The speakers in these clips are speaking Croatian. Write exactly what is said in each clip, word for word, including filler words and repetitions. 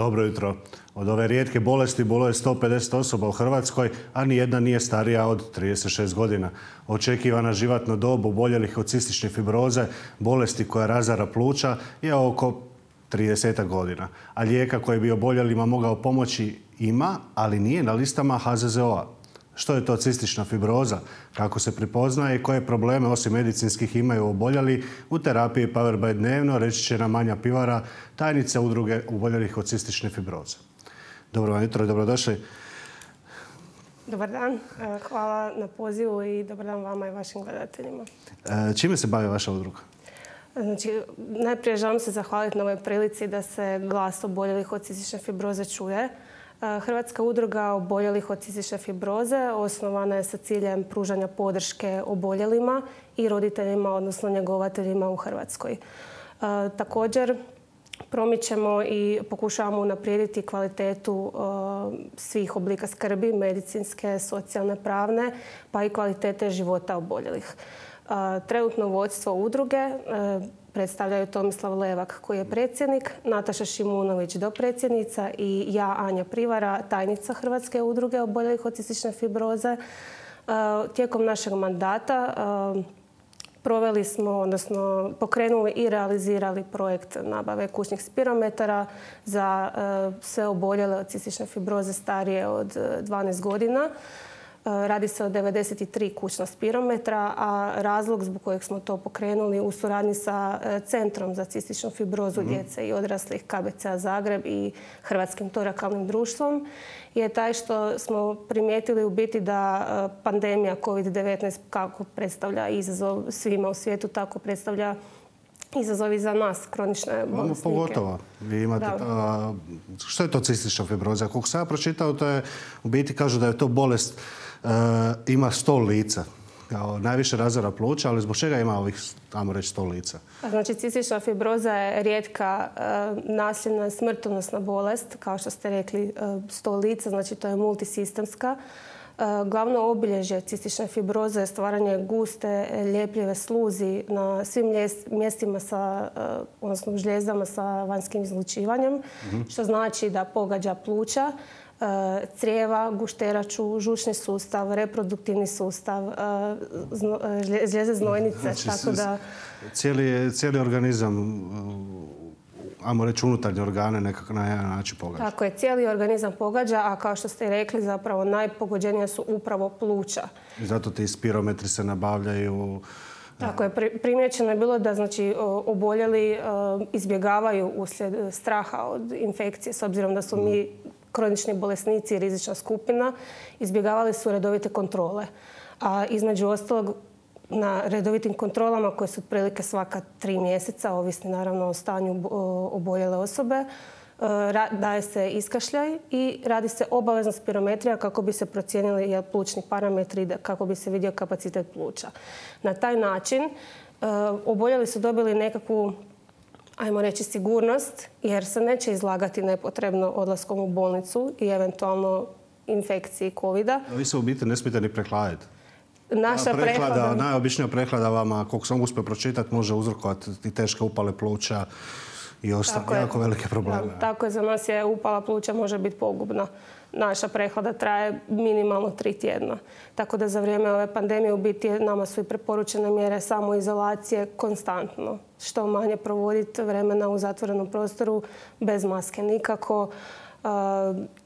Dobro jutro. Od ove rijetke bolesti boluje sto pedeset osoba u Hrvatskoj, a nijedna nije starija od trideset šest godina. Očekivana životna dob oboljelih od cistične fibroze, bolesti koja razara pluća, je oko trideset godina. A lijeka koji bi oboljelima mogao pomoći ima, ali nije na listama H Z Z O-a. Što je to cistična fibroza? Kako se prepoznaje i koje probleme osim medicinskih imaju oboljeli? U terapiji Powerby dnevno reći će nam Anja Pivara, tajnica udruge oboljelih od cistične fibroze. Dobro vam jutro i dobrodošli. Dobar dan. Hvala na pozivu i dobar dan vama i vašim gledateljima. Čime se bavi vaša udruga? Znači, najprije želim se zahvaliti na ovoj prilici da se glas oboljelih od cistične fibroze čuje. Hrvatska udruga oboljelih od cistične fibroze osnovana je sa ciljem pružanja podrške oboljelima i roditeljima, odnosno njegovateljima u Hrvatskoj. Također, promičemo i pokušavamo unaprijediti kvalitetu svih oblika skrbi, medicinske, socijalne, pravne, pa i kvalitete života oboljelih. Trenutno vodstvo udruge predstavljaju Tomislav Levak, koji je predsjednik, Nataša Šimunović, dopredsjednica, i ja, Anja Pivara, tajnica Hrvatske udruge oboljelih od cistične fibroze. Tijekom našeg mandata proveli smo, odnosno pokrenuli i realizirali projekt nabave kućnih spirometara za sve oboljele od cistične fibroze starije od dvanaest godina. Radi se o devedeset tri kućna spirometra, a razlog zbog kojeg smo to pokrenuli u suradnji sa Centrom za cističnu fibrozu mm. djece i odraslih K B C-a Zagreb i Hrvatskim torakalnim društvom je taj što smo primijetili u biti da pandemija kovid devetnaest kako predstavlja izazov svima u svijetu, tako predstavlja izazovi za nas, kronične bolesnike. Pogotovo. Vi imate, a, što je to cistična fibroza? Kako sam ja pročitao, to je, u biti kažu da je to bolest, a, ima sto lica. Kao najviše razara pluća, ali zbog čega ima ovih, tamo reći, sto lica? Znači, cistična fibroza je rijetka a, nasljedna smrtonosna bolest, kao što ste rekli, a, sto lica, znači to je multisistemska. Glavno obilježje cistične fibroze je stvaranje guste, ljepljive sluzi na svim mjestima, sa, odnosno žljezdama sa vanjskim izlučivanjem, mm-hmm. što znači da pogađa pluća, crijeva, gušteraču, žučni sustav, reproduktivni sustav, žljeze znojnice. Znači, tako da... cijeli, cijeli organizam, ajmo reći unutarnje organe, nekako na jedan način pogađa. Tako je, cijeli organizam pogađa, a kao što ste rekli, zapravo najpogođenija su upravo pluća. I zato ti spirometri se nabavljaju. Tako je, primjećeno je bilo da znači, oboljeli izbjegavaju uslijed straha od infekcije, s obzirom da su mm. mi kronični bolesnici i rizična skupina, izbjegavali su redovite kontrole. A između ostalog, na redovitim kontrolama koje su otprilike svaka tri mjeseca, ovisni naravno o stanju oboljele osobe, daje se iskašljaj i radi se obavezna spirometrija kako bi se procijenili plućni parametri, kako bi se vidio kapacitet pluća. Na taj način oboljeli su dobili nekakvu, ajmo reći, sigurnost, jer se neće izlagati nepotrebno odlaskom u bolnicu i eventualno infekciji kovida. Vi se u biti ne smijete ni prehladiti. Naša prehlada, prehlada... Najobičnija prehlada vama, koliko sam uspio pročitati, može uzrokovati i teške upale pluća i ostale jako velike probleme. Da, tako je, za nas je upala pluća može biti pogubna. Naša prehlada traje minimalno tri tjedna. Tako da za vrijeme ove pandemije u biti nama su i preporučene mjere samoizolacije konstantno. Što manje provoditi vremena u zatvorenom prostoru, bez maske nikako. Uh,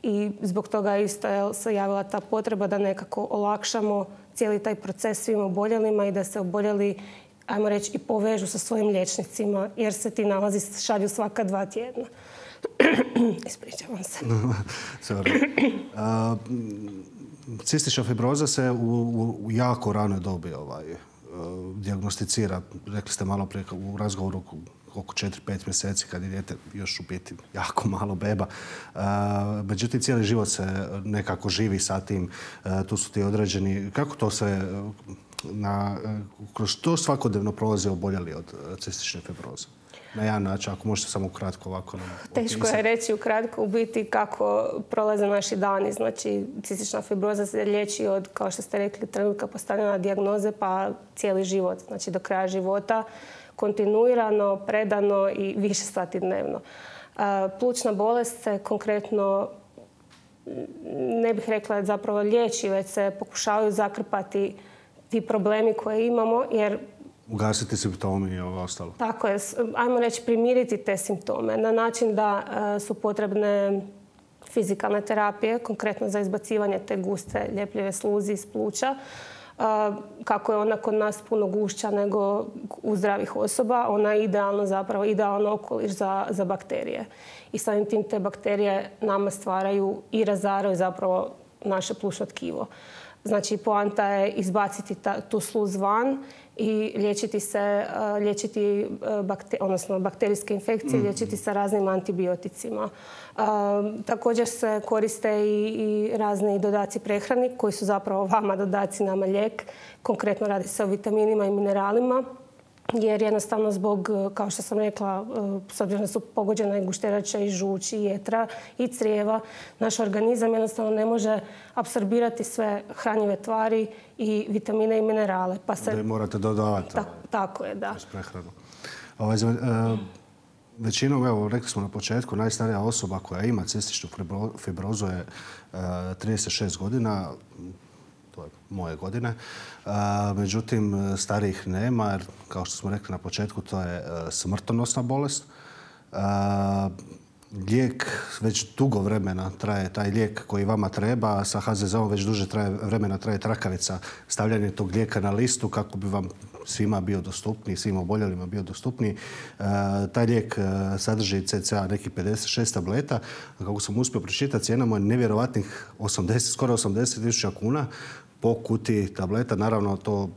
I zbog toga isto je se javila ta potreba da nekako olakšamo cijeli taj proces svim oboljelima i da se oboljeli, ajmo reći, i povežu sa svojim liječnicima, jer se ti nalazi šalju svaka dva tjedna. Ispričavam se. uh, cistična fibroza se u, u jako ranoj dobi ovaj, uh, dijagnosticira. Rekli ste malo prije u razgovoru oko četiri pet mjeseci kad je dijete još u biti jako malo beba. Uh, međutim, cijeli život se nekako živi sa tim. Uh, tu su ti određeni... Kako to sve... Na, kroz što svakodnevno prolaze oboljeli od cistične fibroze? Na jedan način, ako možete samo ukratko ovako nam opisati. Teško je reći ukratko u biti kako prolaze naši dani. Znači, cistična fibroza se liječi od, kao što ste rekli, trenutka postavljanja dijagnoze pa cijeli život. Znači, do kraja života kontinuirano, predano i više sati dnevno. Plućna bolest se konkretno, ne bih rekla zapravo liječi, već se pokušavaju zakrpati ti problemi koje imamo, jer ugasiti simptomi i ovo ostalo. Tako je. Ajmo reći primiriti te simptome na način da su potrebne fizikalne terapije, konkretno za izbacivanje te guste ljepljive sluzi iz pluća. Kako je ona kod nas puno gušća nego u zdravih osoba, ona je idealno zapravo, idealan okoliš za, za bakterije. I samim tim te bakterije nama stvaraju i razaraju zapravo naše plućno tkivo. Znači, poanta je izbaciti ta, tu sluz van i liječiti se, liječiti bakter, odnosno bakterijske infekcije, liječiti sa raznim antibioticima. Također se koriste i, i razni dodaci prehrani koji su zapravo vama dodaci, nama lijek. Konkretno radi se o vitaminima i mineralima. Jer jednostavno zbog, kao što sam rekla, s obzirom da su pogođena i gušterača i žuč i jetra i crijeva, naš organizam jednostavno ne može apsorbirati sve hranjive tvari i vitamine i minerale. Pa se... Da morate dodavati. Ta, tako je, da. Prehranu. Ovaj, e, većinom, evo, rekli smo na početku, najstarija osoba koja ima cističnu fibrozu je e, trideset šest godina. To je moje godine. A, međutim, starijih nema, jer, kao što smo rekli na početku, to je a, smrtonosna bolest. A, lijek već dugo vremena traje, taj lijek koji vama treba, sa ha ze ze-om već duže traje, vremena traje trakavica, stavljanje tog lijeka na listu kako bi vam svima bio dostupniji, svim oboljelima bio dostupniji. E, taj lijek sadrži cca nekih pedeset šest tableta. Kako sam uspio pročitati, cijena mu je nevjerovatnih osamdeset, skoro osamdeset tisuća kuna po kutiji tableta. Naravno, to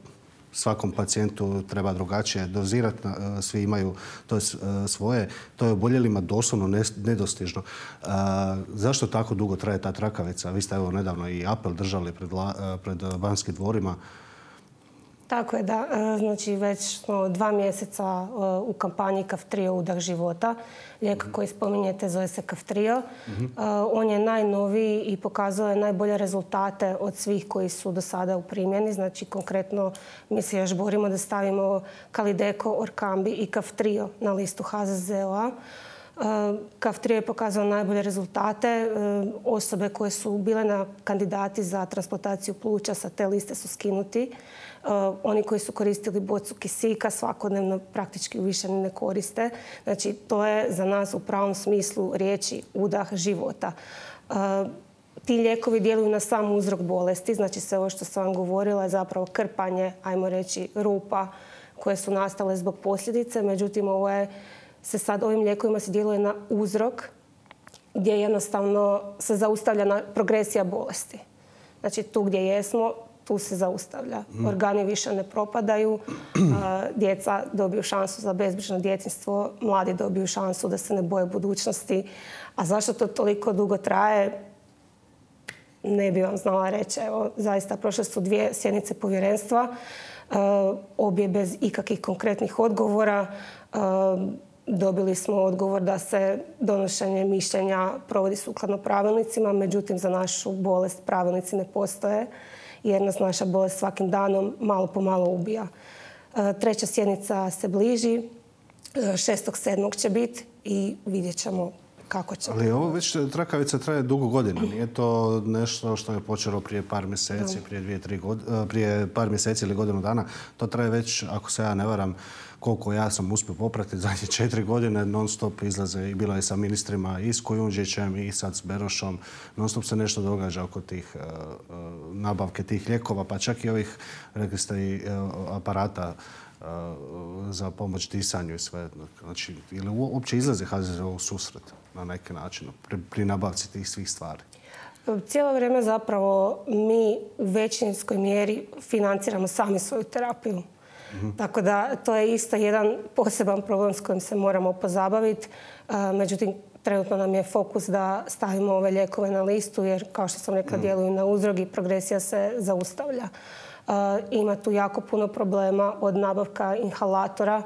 svakom pacijentu treba drugačije dozirati. Svi imaju to je svoje. To je oboljelima doslovno nedostižno. A, zašto tako dugo traje ta trakavica? Vi ste evo nedavno i apel držali pred, pred Banskim dvorima. Tako je, da. Znači, već smo dva mjeseca u kampanji Kaftrio udah života. Lijek koji spominjete zove se Kaftrio. Mm-hmm. On je najnoviji i pokazuje najbolje rezultate od svih koji su do sada u primjeni. Znači, konkretno mi se još borimo da stavimo Kalideko, Orkambi i Kaftrio na listu ha ze ze-a. Kaftrio je pokazao najbolje rezultate. Osobe koje su bile na kandidati za transplantaciju pluća sa te liste su skinuti. Oni koji su koristili bocu kisika svakodnevno praktički više ni ne koriste. Znači, to je za nas u pravom smislu riječi udah života. Ti lijekovi djeluju na sam uzrok bolesti. Znači, sve ovo što sam vam govorila je zapravo krpanje, ajmo reći, rupa koje su nastale zbog posljedice. Međutim, ovo je, se sad ovim lijekovima se djeluje na uzrok gdje jednostavno se zaustavlja na progresija bolesti. Znači, tu gdje jesmo, tu se zaustavlja. Organi više ne propadaju, djeca dobiju šansu za bezbrižno djetinjstvo, mladi dobiju šansu da se ne boje budućnosti. A zašto to toliko dugo traje, ne bi vam znala reći. Evo, zaista, prošle su dvije sjednice povjerenstva, obje bez ikakvih konkretnih odgovora. Dobili smo odgovor da se donošenje mišljenja provodi sukladno pravilnicima, međutim, za našu bolest pravilnici ne postoje, jer nas naša bolest svakim danom malo po malo ubija. Treća sjednica se bliži, šestog sedmog će biti i vidjet ćemo kako će. Ali ovo već trakavica traje dugo godina. Nije to nešto što je počelo prije par mjeseci, prije, dvije, tri god... prije par mjeseci ili godinu dana. To traje već, ako se ja ne varam, koliko ja sam uspio popratiti, zadnje četiri godine non stop izlaze i bilo je sa ministrima i s Kujundžićem i sad s Berošom. Non stop se nešto događa oko tih uh, uh, nabavke tih lijekova, pa čak i ovih, rekli ste, i uh, aparata uh, za pomoć disanju i sve. Znači, ili uopće izlaze ha ze ze u susret na neki način pri, pri nabavci tih svih stvari? Cijelo vrijeme zapravo mi u većinskoj mjeri financiramo sami svoju terapiju. Mm-hmm. Tako da to je isto jedan poseban problem s kojim se moramo pozabaviti. Međutim, trenutno nam je fokus da stavimo ove lijekove na listu jer, kao što sam rekla, mm. djeluju na uzrok i progresija se zaustavlja. Ima tu jako puno problema od nabavka inhalatora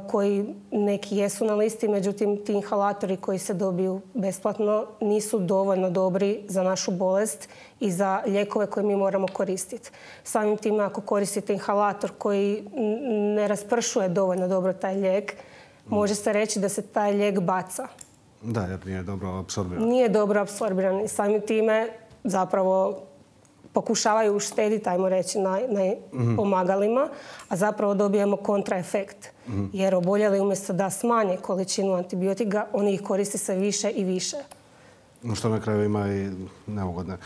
koji neki jesu na listi, međutim ti inhalatori koji se dobiju besplatno nisu dovoljno dobri za našu bolest i za lijekove koje mi moramo koristiti. Samim time, ako koristite inhalator koji ne raspršuje dovoljno dobro taj lijek, može se reći da se taj lijek baca. Da, jer nije dobro apsorbiran. Nije dobro apsorbiran i samim time zapravo pokušavaju uštediti, ajmo reći, na, na mm-hmm. pomagalima, a zapravo dobijemo kontraefekt. Mm-hmm. Jer oboljeli umjesto da smanje količinu antibiotika, oni ih koriste sve više i više. Što na kraju ima i neugodne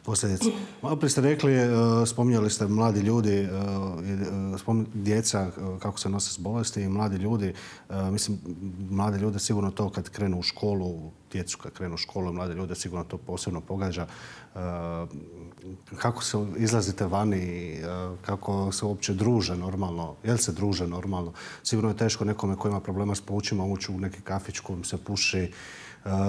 posljedice. Malo prije ste rekli, spominjali ste mladi ljudi, djeca kako se nose s bolesti i mladi ljudi. Mislim, mlade ljude sigurno to kad krenu u školu, djecu kad krenu u školu, mlade ljude sigurno to posebno pogađa. Kako se izlazite vani, kako se uopće druže normalno, jel se druže normalno? Sigurno je teško nekome koji ima problema s plućima ući u neki kafić kojim se puši,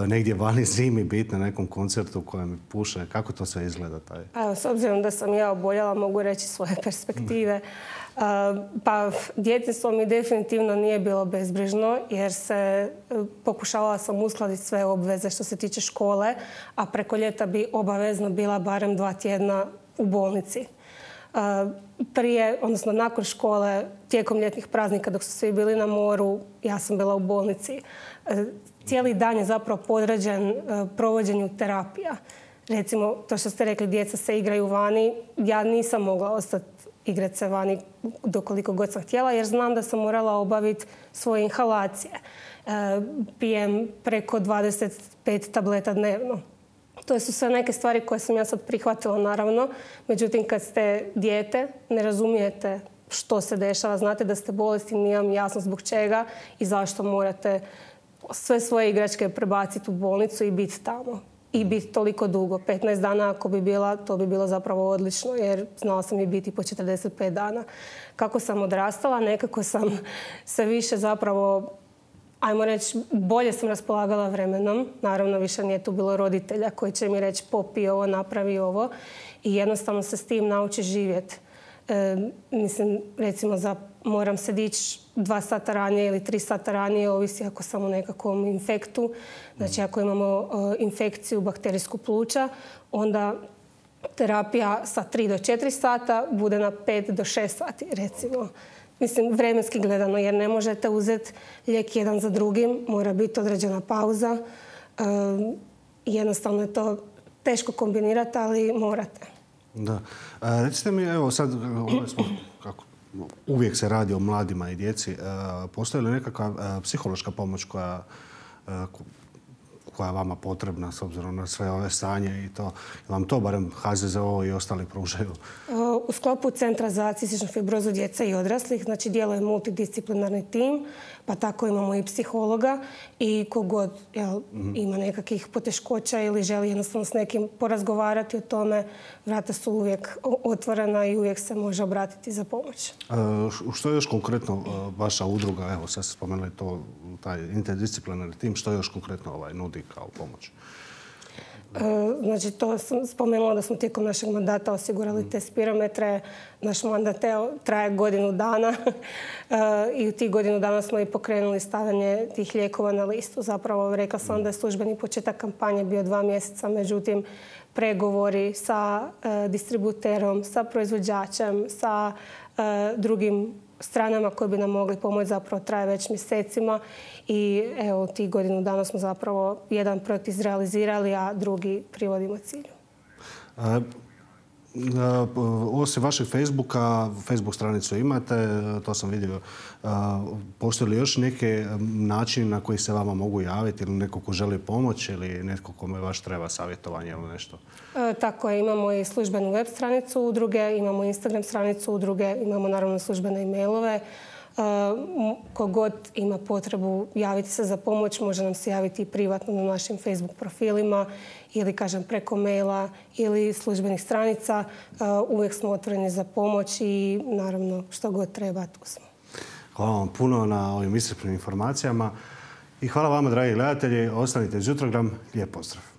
negdje vani zimi biti na nekom koncertu u kojem puše. Kako to sve izgleda? Taj? Evo, s obzirom da sam ja oboljela, mogu reći svoje perspektive. Uh, pa djetinjstvo mi definitivno nije bilo bezbrižno jer se uh, pokušavala sam uskladiti sve obveze što se tiče škole, a preko ljeta bi obavezno bila barem dva tjedna u bolnici. Uh, prije, odnosno nakon škole, tijekom ljetnih praznika dok su svi bili na moru, ja sam bila u bolnici. Uh, cijeli dan je zapravo podređen uh, provođenju terapija. Recimo, to što ste rekli, djeca se igraju vani, ja nisam mogla ostati igrati se vani dokoliko god sam htjela, jer znam da sam morala obaviti svoje inhalacije. Uh, pijem preko dvadeset pet tableta dnevno. To su sve neke stvari koje sam ja sad prihvatila, naravno. Međutim, kad ste dijete, ne razumijete što se dešava. Znate da ste bolesni, nije vam jasno zbog čega i zašto morate sve svoje igračke prebaciti u bolnicu i biti tamo. I biti toliko dugo. petnaest dana ako bi bila, to bi bilo zapravo odlično, jer znala sam i biti po četrdeset pet dana. Kako sam odrastala, nekako sam sve više zapravo, ajmo reći, bolje sam raspolagala vremenom. Naravno, više nije tu bilo roditelja koji će mi reći popi ovo, napravi ovo. I jednostavno se s tim nauči živjeti. E, mislim, recimo, za, moram se dići dva sata ranije ili tri sata ranije, ovisi ako sam u nekakvom infektu. Znači, ako imamo uh, infekciju bakterijsku pluća, onda terapija sa tri do četiri sata bude na pet do šest sati, recimo. Mislim, vremenski gledano, jer ne možete uzeti lijek jedan za drugim, mora biti određena pauza. Uh, jednostavno je to teško kombinirati, ali morate. Da. A, recite mi, evo sad, smo, kako, uvijek se radi o mladima i djeci. A, postoji li nekakva a, psihološka pomoć koja, a, koja je vama potrebna s obzirom na sve ove stanje i to? Vam to barem H Z Z O i ostali pružaju? U sklopu Centra za cističnu fibrozu djece i odraslih, znači djeluje multidisciplinarni tim, pa tako imamo i psihologa i kogod jel, mm-hmm. ima nekakvih poteškoća ili želi jednostavno s nekim porazgovarati o tome, vrata su uvijek otvorena i uvijek se može obratiti za pomoć. A, što je još konkretno vaša udruga, evo sad ste spomenuli to, taj interdisciplinarni tim, što još konkretno ovaj, nudi kao pomoć? Znači, to sam spomenula da smo tijekom našeg mandata osigurali te spirometre. Naš mandat traje godinu dana i u tih godinu dana smo i pokrenuli stavljanje tih lijekova na listu. Zapravo, rekla sam da je službeni početak kampanje bio dva mjeseca, međutim, pregovori sa distributerom, sa proizvođačem, sa drugim stranama koje bi nam mogli pomoći zapravo traje već mjesecima i evo tih godinu dana smo zapravo jedan projekt izrealizirali, a drugi privodimo cilju. A, a, osim vašeg Facebooka, Facebook stranicu imate, to sam vidio. A, postoji li još neke način na koji se vama mogu javiti ili neko ko želi pomoć ili netko kome vaš treba savjetovanje ili nešto? E, tako je, imamo i službenu web stranicu udruge, imamo Instagram stranicu udruge, imamo naravno službene e-mailove. Kogod ima potrebu javiti se za pomoć, može nam se javiti i privatno na našim Facebook profilima ili, kažem, preko maila ili službenih stranica. Uvijek smo otvoreni za pomoć i, naravno, što god treba, tu smo. Hvala vam puno na ovim iscrpnim informacijama i hvala vama, dragi gledatelji. Ostanite uz Jutrogram. Lijep pozdrav.